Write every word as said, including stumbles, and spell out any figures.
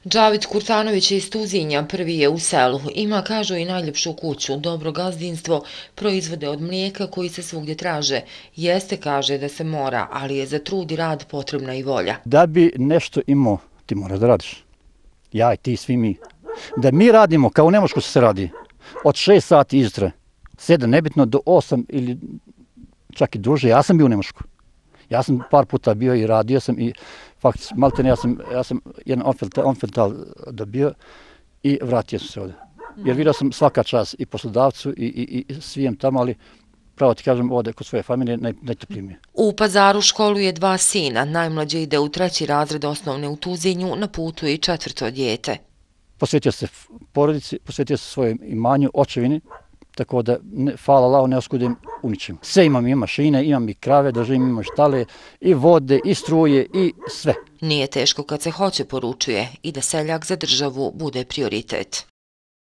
Džavid Kurtanović iz Tuzinja prvi je u selu. Ima, kažu, i najljepšu kuću, dobro gazdinstvo, proizvode od mlijeka koji se svugdje traže. Jeste, kaže, da se mora, ali je za trud i rad potrebna i volja. Da bi nešto imao, ti moraš da radiš. Ja i ti, svi mi. Da mi radimo, kao u Nemačku se radi, od šest sati izjutra, sedam, nebitno, do osam ili čak i duže. Ja sam bio u Nemačku. Ja sam par puta bio i radio sam i faktički, maltene, ja sam, ja sam jedan onfental dobio i vratio sam se ovdje. Jer vidio sam svaka čast i poslodavcu i, i, i svijem tamo, ali pravo ti kažem ovdje kod svoje familije naj, najtoplije mi je. U Pazaru školuje dva sina, najmlađi ide u treći razred osnovne u Tuzinju, na putu je i četvrto dijete. Posvetio se porodici, posvetio se svojem imanju, očevini, tako da, ne, hvala Allahu, ne oskudim u ničemu. Sve imam, i mašine, imam i krave, da živim, imam štale, i vode, i struje, i sve. Nije teško kad se hoće, poručuje, i da seljak za državu bude prioritet.